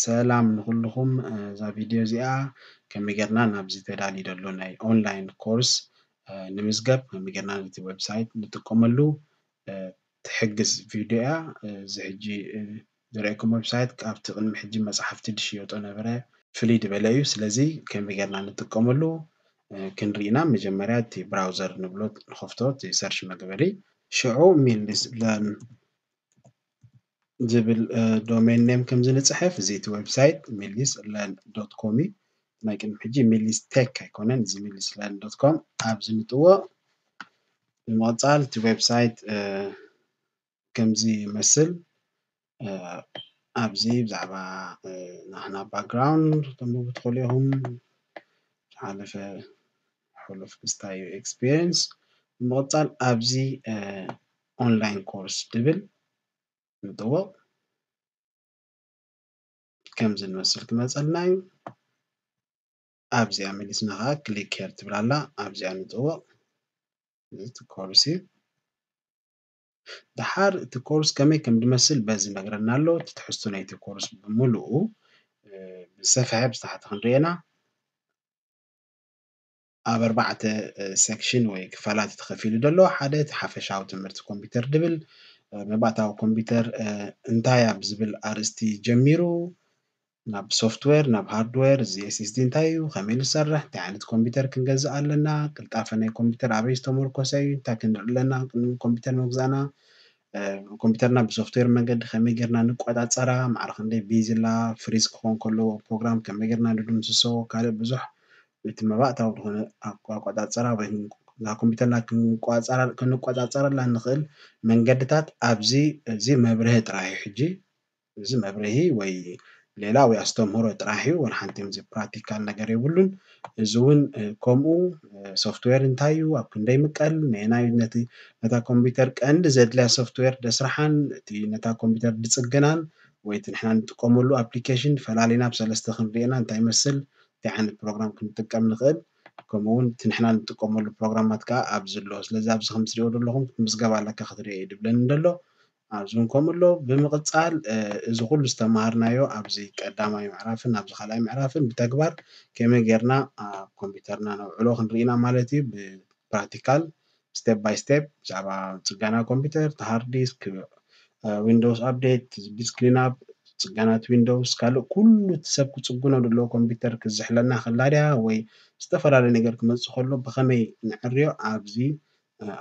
ሰላም ንኹልኹም። እዛ ቪድዮ እዚኣ ከመይ ጌርና ናብዚ ተዳልዩ ዘሎ ናይ ኦንላይን ኮርስ ንምዝገብ ከመይ ጌርና ነቲ ዌብሳይት ንጥቀመሉ ትሕግዝ ቪድዮ እያ። እዚ ሕጂ ዝረአኩም ዌብሳይት ካብቲ ቅድሚ ሕጂ መጽሓፍቲ ዝሽየጦ ነበረ ፍልይ ዝበለ እዩ። ስለዚ ከመይ ጌርና ንጥቀመሉ ክንርኢ ኢና። መጀመርያ እቲ ብራውዘር ንብሎ ንኸፍቶ፣ እቲ ሰርች መግበሪ። ሽዑ ሚልስ ለርን ዝብል ዶሜን ኔም ከም ዝንጽሕፍ፣ እዚ እቲ ዌብሳይት ሚሊስ ለርን ዶት ኮም እዩ። ናይ ቅድሚ ሕጂ ሚሊስ ቴክ ኣይኮነን፣ እዚ ሚሊስ ለርን ዶት ኮም ኣብዚ ንጥወቕ። ብምቕጻል እቲ ዌብሳይት ከምዚ ይመስል። ኣብዚ ብዛዕባ ናህና ባክግራውንድ ተንብቡ ትኽእሉ ኢኹም። ዝሓለፈ ሕሉፍ ክስታይ ኤክስፒሪየንስ። ብምቕጻል ኣብዚ ኦንላይን ኮርስ ድብል ንጥወቕ። ከምዚ ንመስል ክመጸልና እዩ። ኣብዚኣ መሊስና ኸዓ ክሊክ ሄር ትብል ኣላ። ኣብዚኣ ንጥወቕ። እዚ እቲ ኮርስ እዩ። ደሓር እቲ ኮርስ ከመይ ከም ዝመስል በዚ ነግረና ኣሎ። እቲ ትሕዝቶ ናይቲ ኮርስ ብምሉኡ ብዝሰፍሐ ብዝተሓተ ክንርእየና። ኣብ ኣርባዕተ ሴክሽን ወይ ክፋላት ተኸፊሉ ዘሎ ሓደ እቲ ሓፈሻዊ ትምህርቲ ኮምፒውተር ድብል፣ መባእታዊ ኮምፒውተር እንታይ ኣብ ዝብል ኣርእስቲ ጀሚሩ ናብ ሶፍትዌር ናብ ሃርድዌር፣ እዚ ኤስኤስዲ እንታይ እዩ፣ ከመይ ዝሰርሕ፣ እንታይ ዓይነት ኮምፒውተር ክንገዝእ ኣለና፣ ቅልጣፈ ናይ ኮምፒውተር ኣበይ ዝተመርኮሰ እዩ፣ እንታይ ክንርኢ ኣለና ቅድሚ ኮምፒውተር ምግዛእና፣ ኮምፒውተርና ብሶፍትዌር መንገዲ ከመይ ጌርና ንቆጻጸራ፣ ማዕረ ክንደይ ቢዚ ኣላ፣ ፍሪዝ ክኾን ከለዎ ፕሮግራም ከመይ ጌርና ንድምስሶ፣ ካልእ ብዙሕ እቲ መባእታዊ ዝኾነ ኣቆጻጸራ ወይ ኮምፒውተርና ክንቆጻጸረላ እንኽእል መንገድታት ኣብዚ፣ እዚ መብርሂ ጥራይ እዩ። ሕጂ እዚ መብርሂ ወይ ሌላ ወይ ኣስተምህሮ ጥራሕ እዩ፣ ወላ ሓንቲ እዚ ፕራክቲካል ነገር የብሉን። እዚ እውን ከምኡ ሶፍትዌር እንታይ እዩ፣ ኣብ ክንደይ ምቀል፣ ነየናይ ነቲ ነታ ኮምፒውተር ቀንዲ ዘድልያ ሶፍትዌር ደስርሓን እቲ ነታ ኮምፒውተር ድጽግናን ወይ እቲ ንሕና ንጥቀመሉ ኣፕሊኬሽን ፈላሊና ብሰለስተ ክንርእየና እንታይ ይመስል፣ እንታይ ዓይነት ፕሮግራም ክንጥቀም ንኽእል፣ ከምኡ እውን እቲ ንሕና ንጥቀመሉ ፕሮግራማት ከዓ ኣብዚ ኣሎ። ስለዚ ኣብዚ ከም ትሪኦ ዘለኹም ክትምዝገብ ኣለካ ክትሪኦ እዩ ድብለኒ ደሎ። ኣብዚ እውን ከምኡ ኣሎ። ብምቕጻል እዚ ኩሉ ዝተማሃርናዮ ኣብዚ ቀዳማይ ምዕራፍን ኣብዚ ካልኣይ ምዕራፍን ብተግባር ከመይ ጌርና ኣብ ኮምፒውተርና ነውዕሎ ክንርኢ ኢና ማለት እዩ። ብፕራክቲካል ስቴፕ ባይ ስቴፕ ብዛዕባ ጽገና ኮምፒውተር፣ ሃርድ ዲስክ፣ ዊንዶውስ ኣፕዴት፣ ዲስክ ክሊን ኣፕ፣ ጽገናት ዊንዶውስ፣ ካልእ ኩሉ እቲ ሰብ ክጽግኖ ዘለዎ ኮምፒውተር ክዝሕለና ከላ ድያ ወይ ዝተፈላለየ ነገር ክመጽእ ከሎ ብኸመይ ንዕርዮ ኣብዚ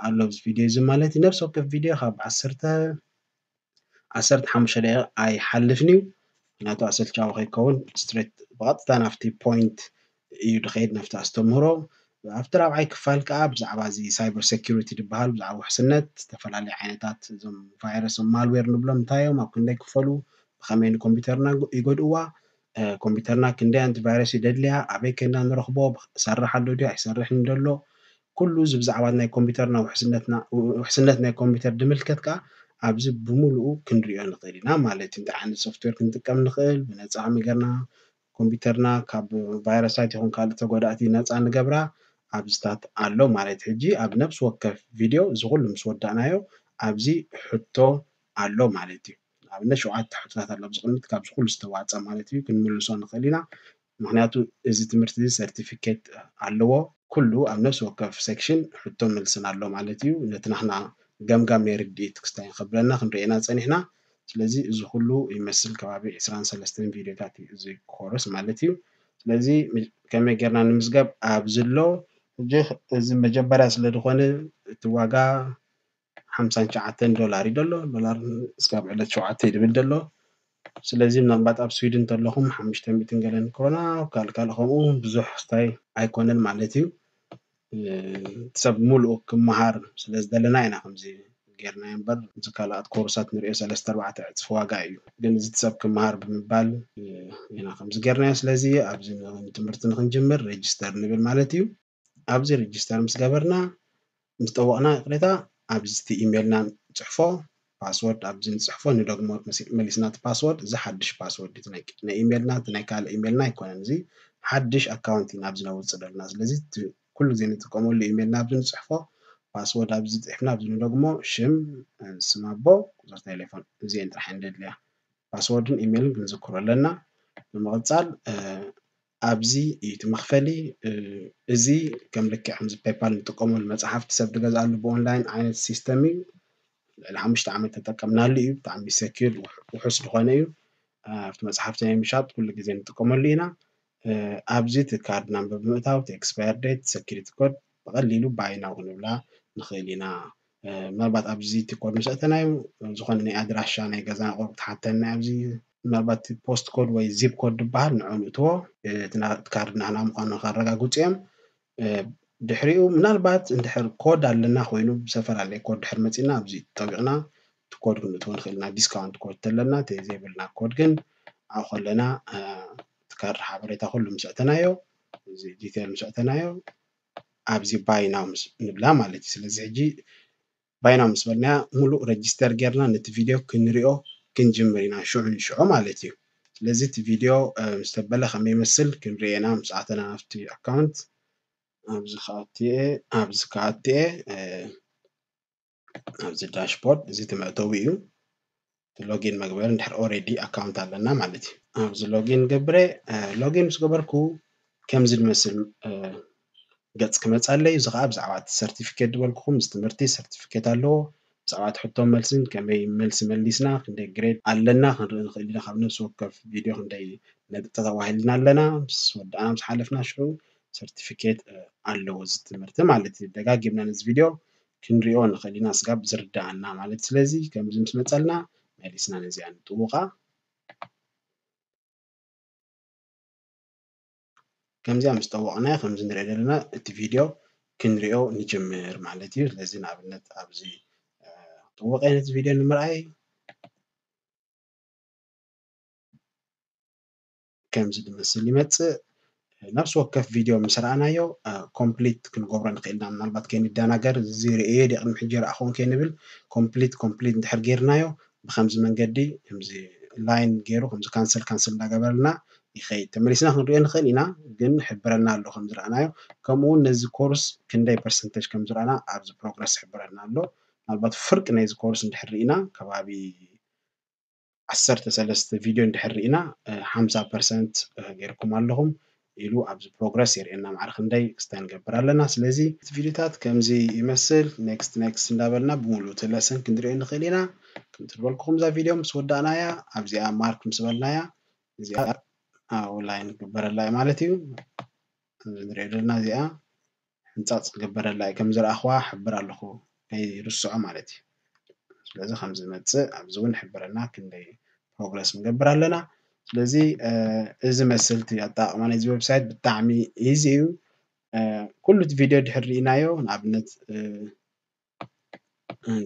ኣሎ ኣብዚ ቪድዮ እዚ ማለት እዩ። ነፍሲ ወከፍ ቪድዮ ካብ ዓሰርተ ዓሰርተ ሓሙሽተ ደቂቕ ኣይሓልፍን እዩ። ምክንያቱ ኣሰልቻዊ ከይከውን ስትሬት ብቐጥታ ናብቲ ፖይንት እዩ ድኸይድ ናብቲ ኣስተምህሮ። ኣብቲ ራብዓይ ክፋል ከዓ ብዛዕባ እዚ ሳይበር ሴኪሪቲ ዝበሃል ብዛዕባ ውሕስነት ዝተፈላለዩ ዓይነታት እዞም ቫይረስ ማልዌር ንብሎም እንታይ እዮም፣ ኣብ ክንደይ ክፈሉ፣ ብኸመይ ንኮምፒውተርና ይጎድእዋ፣ ኮምፒውተርና ክንደይ ኣንቲቫይረስ እዩ ደድልያ፣ ኣበይ ከይድና ንረኽቦ፣ ይሰርሕ ኣሎ ድዩ ኣይሰርሕን ደሎ፣ ኩሉ እዚ ብዛዕባ ናይ ኮምፒውተርና ውሕስነትና ውሕስነት ናይ ኮምፒውተር ድምልከት ከዓ ኣብዚ ብምሉኡ ክንሪኦ ንኽእል ኢና ማለት እዩ። እንታይ ዓይነት ሶፍትዌር ክንጥቀም ንኽእል፣ ብነፃ ከመይ ጌርና ኮምፒውተርና ካብ ቫይረሳት ይኹን ካልእ ተጎዳእቲ ነፃ ንገብራ ኣብዚታት ኣሎ ማለት። ሕጂ ኣብ ነብሲ ወከፍ ቪድዮ እዚ ኩሉ ምስ ወዳእናዮ ኣብዚ ሕቶ ኣሎ ማለት እዩ። ንኣብነት ሸውዓተ ሕቶታት ኣሎ ኣብዚ ቅድሚት ካብዚ ኩሉ ዝተዋፀ ማለት እዩ ክንምልሶ ንኽእል ኢና። ምክንያቱ እዚ ትምህርቲ እዚ ሰርቲፊኬት ኣለዎ። ኩሉ ኣብ ነፍሲ ወከፍ ሴክሽን ሕቶ መልስን ኣሎ ማለት እዩ። ነቲ ናህና ገምጋም ናይ ርድኢት ክስታይ ከብለና ክንርእየና ጸኒሕና። ስለዚ እዚ ኩሉ ይመስል ከባቢ ዕስራን ሰለስተን ቪድዮታት እዩ እዚ ኮርስ ማለት እዩ። ስለዚ ከመይ ጌርና ንምዝገብ ኣብዚ ኣሎ። ሕጂ እዚ መጀመርያ ስለ ዝኾነ እቲ ዋጋ ሓምሳን ትሽዓተን ዶላር እዩ ዘሎ። ዶላር እስካብ ዕለት ሸውዓተ እዩ ድብል ዘሎ። ስለዚ ምናልባት ኣብ ስዊድን እንተለኹም ሓሙሽተ ሚእትን ገለን ክሮና፣ ካልእ ካልእ ከምኡ ብዙሕ ስታይ ኣይኮነን ማለት እዩ። እቲ ሰብ ሙሉእ ክመሃር ስለ ዝደለና ኢና ከምዚ ጌርና እምበር፣ እዚ ካልኣት ኮርሳት ንሪኦ ሰለስተ ኣርባዕተ ዕፅፊ ዋጋ እዩ። ግን እዚ እቲ ሰብ ክመሃር ብምባል ኢና ከምዚ ጌርናዮ። ስለዚ ኣብዚ ትምህርቲ ንክንጅምር ሬጅስተር ንብል ማለት እዩ። ኣብዚ ሬጅስተር ምስ ገበርና ምስ ጠወቕና ይቕሬታ ኣብዚ እቲ ኢሜልና ንፅሕፎ ፓስወርድ ኣብዚ ንፅሕፎ ንደግሞ መሊስና እቲ ፓስወርድ እዚ ሓድሽ ፓስወርድ ናይ ኢሜልና እቲ ናይ ካልእ ኢሜልና ኣይኮነን። እዚ ሓድሽ ኣካውንት ኢና ኣብዚ ነውፅእ ዘለና። ስለዚ ኩሉ ግዜ ንጥቀመሉ ኢሜልና ኣብዚ ንፅሕፎ ፓስወርድ ኣብዚ ፅሒፍና ኣብዚ ንደግሞ ሽም ስም ኣቦ ቁፅሪ ቴሌፎን እዚአን ጥራሕ እንደድልያ ፓስወርድን ኢሜይልን ክንዝክሮ ኣለና። ብምቕጻል ኣብዚ እዩ እቲ መኽፈሊ። እዚ ከም ልክዕ ከምዚ ፔፓል ንጥቀመሉ መጽሓፍቲ ሰብ ዝገዝኣሉ ብኦንላይን ዓይነት ሲስተም እዩ። ልዕሊ ሓሙሽተ ዓመት ተጠቀምናሉ እዩ። ብጣዕሚ ሰኪር ውሑስ ዝኾነ እዩ። ኣብቲ መጽሓፍቲ ናይ ምሻጥ ኩሉ ግዜ ንጥቀመሉ ኢና። ኣብዚ እቲ ካርድ ናምበር ብምእታው እቲ ኤክስፓየር ዴት፣ ሰኪሪቲ ኮድ ብቐሊሉ ባይ ናው ክንብላ ንኽእል ኢና። ምናልባት ኣብዚ እቲ ኮድ ምስ ኣእተናዮ ዝኾነ ናይ ኣድራሻ ናይ ገዛና ቁሩብ ክትሓተና ኣብዚ ምናልባት ፖስት ኮድ ወይ ዚፕ ኮድ ዝበሃል ንዕኡ ንእትዎ። እቲ ካርድ ናህና ምዃኑ ከረጋግፁ እዮም። ድሕሪኡ ምናልባት እንድሕር ኮድ ኣለና ኮይኑ ብዝተፈላለየ ኮድ ድሕር መፂና ኣብዚ ጠቢቕና እቲ ኮድ ክንእትዎ ንኽእል ኢና። ዲስካውንት ኮድ ተለና እቲ ዘይብልና ኮድ ግን ኣብኡ ከለና እቲ ካርድ ሓበሬታ ኩሉ ምስ ኣእተናዮ እዚ ዲቴል ምስ ኣእተናዮ ኣብዚ ባይ ናው ንብላ ማለት እዩ። ስለዚ ሕጂ ባይ ናው ምስ በልናያ ሙሉእ ረጅስተር ጌርና ነቲ ቪድዮ ክንሪኦ ክንጅምር ኢና ሽዑ ንሽዑ ማለት እዩ። ስለዚ እቲ ቪድዮ ምስ ተበለ ከመይ ይመስል ክንሪኦ ኢና ምስ ኣተና ናብቲ ኣካውንት። ኣብዚ ከኣትየ ኣብዚ ከኣትየ ኣብዚ ዳሽቦርድ እዚ እቲ መእተዊ እዩ። እቲ ሎጊን መግበሪ እንድሕር ኦሬዲ ኣካውንት ኣለና ማለት እዩ። ኣብዚ ሎጊን ገብረ ሎጊን ምስ ገበርኩ ከምዚ ዝመስል ገጽ ክመጻለይ። እዚ ከዓ ብዛዕባ እቲ ሰርቲፊኬት ዝበልኩኹም እዚ ትምህርቲ ሰርቲፊኬት ኣለዎ። ብዛዕባ እቲ ሕቶ መልስን ከመይ መልሲ መሊስና ክንደይ ግሬድ ኣለና ክንርኢ ንኽእል ኢና። ካብ ነፍሲ ወከፍ ቪድዮ ክንደይ ነጥቢ ተዋሂልና ኣለና ምስ ወዳእና ምስ ሓለፍና ሽዑ ሰርቲፊኬት ኣለዎ እዚ ትምህርቲ ማለት እዩ። ደጋጊምና ነዚ ቪድዮ ክንሪኦ ንኽእል ኢና ስጋብ ዝርዳኣና ማለት። ስለዚ ከምዚ ምስ መጸልና መሊስና ነዚኣ ንጥውቓ። ከምዚኣ ምስ ጠወቕናዮ ከምዚ ንሪኦ ዘለና እቲ ቪድዮ ክንሪኦ ንጅምር ማለት እዩ። ስለዚ ንኣብነት ኣብዚ ጥውቕ ነቲ ቪድዮ ንምርኣይ ከምዚ ዝመስል ይመጽእ። ነፍሲ ወከፍ ቪድዮ ምስ ረኣናዮ ኮምፕሊት ክንገብሮ ንኽእል ኢና። ምናልባት ከይንደናገር እዚ ርእየ ድየ ቅድሚ ሕጂ ረኣኹን ከይንብል ኮምፕሊት ኮምፕሊት እንድሕር ጌርናዮ ብከምዚ መንገዲ ከምዚ ላይን ገይሩ ከምዚ ካንስል ካንስል እንዳገበረልና ይኸይድ። ተመሊስና ክንሪኦ ንኽእል ኢና፣ ግን ሕብረና ኣሎ ከምዚ ረኣናዮ። ከምኡ እውን ነዚ ኮርስ ክንደይ ፐርሰንቴጅ ከምዚ ረኣና ኣብዚ ፕሮግረስ ሕብረና ኣሎ። ምናልባት ፍርቂ ናይዚ ኮርስ እንድሕር ርኢና ከባቢ ዓሰርተ ሰለስተ ቪድዮ እንድሕር ርኢና ሓምሳ ፐርሰንት ጌርኩም ኣለኹም ኢሉ ኣብዚ ፕሮግረስ የርእየና። ማዕረ ክንደይ ክስታይ ንገብር ኣለና። ስለዚ እቲ ቪድዮታት ከምዚ ይመስል። ኔክስት ኔክስት እንዳበልና ብምሉእ እቲ ለሰን ክንሪኦ ንኽእል ኢና። ከምቲ ዝበልኩኹም እዛ ቪድዮ ምስ ወዳእናያ ኣብዚኣ ማርክ ምስ በልናያ እዚኣ ኣብ ላይን ክግበረላ እዩ ማለት እዩ። ንሪኦ ዘለና እዚኣ ሕንፃፅ ክግበረላ እዩ። ከም ዝረኣኽዋ ሕብር ኣለኹ ከይርስዖ ማለት እዩ። ስለዚ ከም ዝመፅእ ኣብዚ እውን ሕብረና ክንደይ ፕሮግረስ ንገብር ኣለና። ስለዚ እዚ መስልቲ ኣጠቃቅማ ናይዚ ዌብሳይት ብጣዕሚ ኢዚ እዩ። ኩሉ እቲ ቪድዮ ድሕር ርኢናዮ ንኣብነት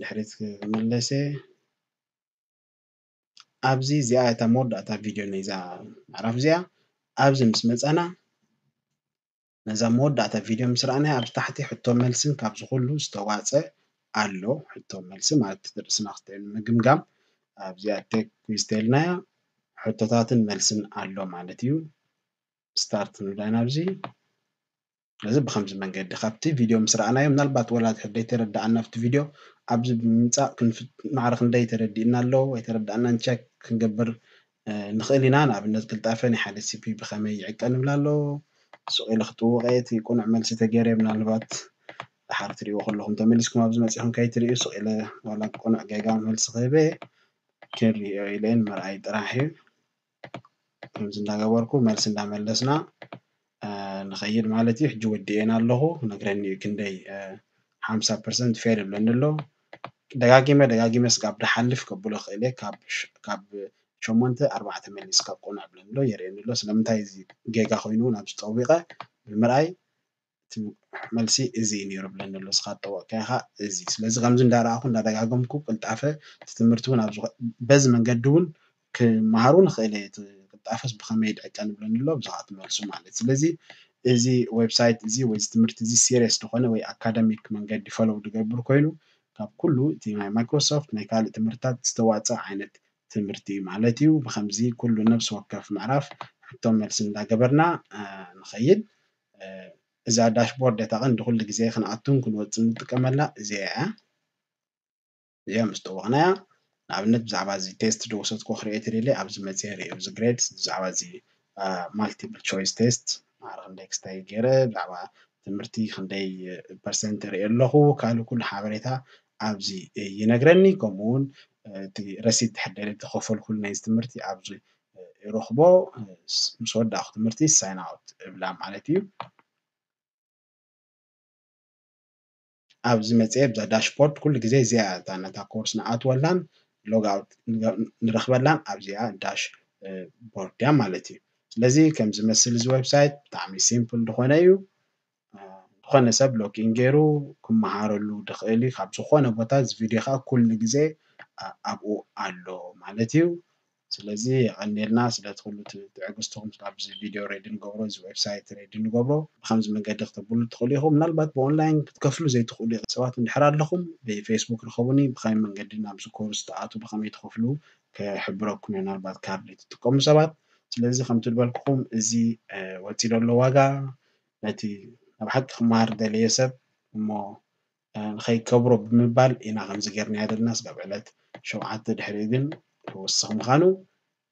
ድሕሪት ክምለሰ ኣብዚ እዚኣ እታ መወዳእታ ቪድዮ ናይዛ ምዕራፍ እዚኣ ኣብዚ ምስ መፃና ነዛ መወዳእታ ቪድዮ ምስ ረኣናያ ኣብ ታሕቲ ሕቶ መልስን ካብዚ ኩሉ ዝተዋፀ ኣሎ። ሕቶ መልሲ ማለት እቲ ርእስና ክስተ ንምግምጋም ኣብዚኣ ቴክ ኩዝ ተልናያ ሕቶታትን መልስን ኣሎ ማለት እዩ። ስታርት ንብላ ኢና ኣብዚ። ስለዚ ብከምዚ መንገዲ ካብቲ ቪድዮ ምስ ረኣናዮ ምናልባት ወላ ድሕር ደይተረዳኣና ኣብቲ ቪድዮ ኣብዚ ብምምፃእ ማዕረ ክንደይ ተረዲእና ኣሎ ወይ ተረዳእና ንቸክ ክንገብር ንኽእል ኢና። ንኣብነት ቅልጣፈ ናይ ሓደ ሲፒ ብኸመይ ይዕቀ ንብል ኣሎ። ሱቕ ኢለ ክጥውቐ እቲ ቁኑዕ መልሲ ተገይረ ምናልባት ድሓር ትሪእዎ ከለኹም ተመሊስኩም ኣብዚ መፂኹም ከይትሪኡ ሱቕ ኢለ ዋላ ቁኑዕ ጌጋ መልሲ ክህበ ክንሪኦ ኢለ ምርኣይ ጥራሕ እዩ። ከምዚ እንዳገበርኩ መልሲ እንዳመለስና ንኸይድ ማለት እዩ። ሕጂ ወዲኤን ኣለኹ ነግረኒ እዩ ክንደይ ሓምሳ ፐርሰንት ፌል ይብለኒ ኣሎ። ደጋጊመ ደጋጊመ ስጋብ ድሓልፍ ከብሎ ክእል እየ። ካብ ሸሞንተ ኣርባዕተ መሊስ ካብ ቁኑዕ ብለኒ ኣሎ የርእየኒ ኣሎ። ስለምንታይ እዚ ጌጋ ኮይኑ ናብ ዝጠዊቐ ብምርኣይ እቲ መልሲ እዚ እዩ ነይሩ ብለኒ ኣሎ። እስኻ ጠወቅካዮ ኸዓ እዚ። ስለዚ ከምዚ እንዳረኣኹ እንዳደጋገምኩ ቅልጣፈ እቲ ትምህርቲ እውን ኣብዚ በዚ መንገዲ እውን ክመሃሩ ንኽእል እየ። እቲ ቅልጣፈስ ብኸመይ ድዕቀን ብለኒ ኣሎ ብዛዕባ እቲ መልሱ ማለት። ስለዚ እዚ ዌብሳይት እዚ ወይ እዚ ትምህርቲ እዚ ሲሪየስ ዝኾነ ወይ ኣካደሚክ መንገዲ ፈሎው ዝገብር ኮይኑ ካብ ኩሉ እቲ ናይ ማይክሮሶፍት ናይ ካልእ ትምህርትታት ዝተዋፀ ዓይነት ትምህርቲ እዩ ማለት እዩ። ብከምዚ ኩሉ ነብሲ ወከፍ ምዕራፍ ሕቶ መልሲ እንዳገበርና ንኸይድ። እዛ ዳሽቦርድ እታ ቀንዲ ኩሉ ግዜ ክንኣቱን ክንወፅን ንጥቀመላ እዚኣ እያ። እዚኣ ምስ ጠወቕናያ ንኣብነት ብዛዕባ እዚ ቴስት ዝወሰድኩ ክሪኤት ደለ ኣብዚ መፅየ ርእየ እዚ ግሬድ ብዛዕባ እዚ ማልቲፕል ቾይስ ቴስት ማዕረ ክንደይ ክስታይ ገይረ ብዛዕባ ትምህርቲ ክንደይ ፐርሰንት ርኢ ኣለኹ ካልእ ኩሉ ሓበሬታ ኣብዚ ይነግረኒ። ከምኡ እውን እቲ ረሲት ድሕር ደለ ተኸፈልኩሉ ናይ ትምህርቲ ኣብዚ ይረኽቦ። ምስ ወዳእኩ ትምህርቲ ሳይን ኣውት እብላ ማለት እዩ። ኣብዚ መፅየ ብዛ ዳሽቦርድ ኩሉ ግዜ እዚኣ እታ ነታ ኮርስ ንኣትወላን ሎግ ኣውት ንረኽበላን ኣብዚኣ ዳሽ ቦርድ እያ ማለት እዩ። ስለዚ ከም ዝመስል እዚ ዌብሳይት ብጣዕሚ ሲምፕል ዝኾነ እዩ። ዝኾነ ሰብ ሎጊን ገይሩ ክመሃረሉ ዝኽእል እዩ ካብ ዝኾነ ቦታ። እዚ ቪድዮ ከዓ ኩሉ ግዜ ኣብኡ ኣሎ ማለት እዩ። ስለዚ የቐንየልና ስለቲ ኩሉ ትዕግስትኹም ኣብዚ ቪድዮ ሬዲ ንገብሮ እዚ ዌብሳይት ሬዲ ንገብሮ ብከምዚ መንገዲ ክተብሉ ትኽእሉ ኢኹም። ምናልባት ብኦንላይን ክትከፍሉ ዘይትኽእሉ ሰባት እንድሕር ኣለኹም ብፌስቡክ ርከቡኒ። ብከመይ መንገዲ ናብዚ ኮርስ ትኣቱ ብከመይ ትኸፍሉ ክሕብረኩም እየ ምናልባት ካርድ ትጥቀሙ ሰባት። ስለዚ ከምቲ ዝበልኩኹም እዚ ወፂ ዘሎ ዋጋ ነቲ ኣብ ሓቂ ክመሃር ደለየ ሰብ እሞ ንኸይከብሮ ብምባል ኢና ከምዚ ጌርናዮ ዘለና። ስጋብ ዕለት ሸውዓተ ድሕሪኡ ግን ክውስኽ ምዃኑ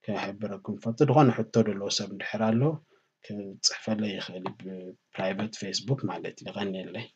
ክሕብረኩም ፈቱ። ዝኾነ ሕቶ ዘለዎ ሰብ እንድሕር ኣሎ ክፅሕፈለይ ይኽእል ብፕራይቨት ፌስቡክ ማለት እዩ። የቐንየለይ።